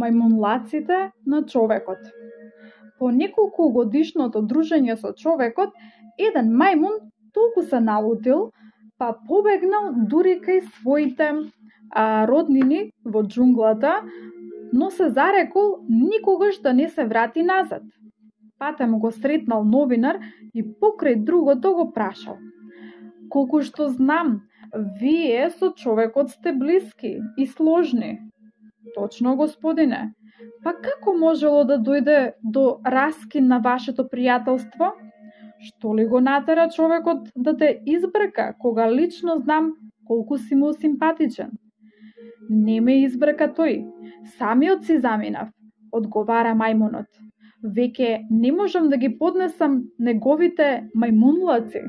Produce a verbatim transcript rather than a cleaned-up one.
мајмунлаците на човекот. По неколку годишното дружење со човекот, еден мајмун толку се налутил, па побегнал дури кај своите а, роднини во џунглата, но се зарекол никогаш да не се врати назад. Патем го сретнал новинар и покрај другото го прашал: колку што знам, вие со човекот сте блиски и сложни. Точно, господине. Па како можело да дојде до раскин на вашето пријателство? Што ли го натера човекот да те избрка, кога лично знам колку си му симпатичен? Не ме избрка тој, самиот си заминав, одговара мајмунот. Веќе не можам да ги поднесам неговите мајмунлаци.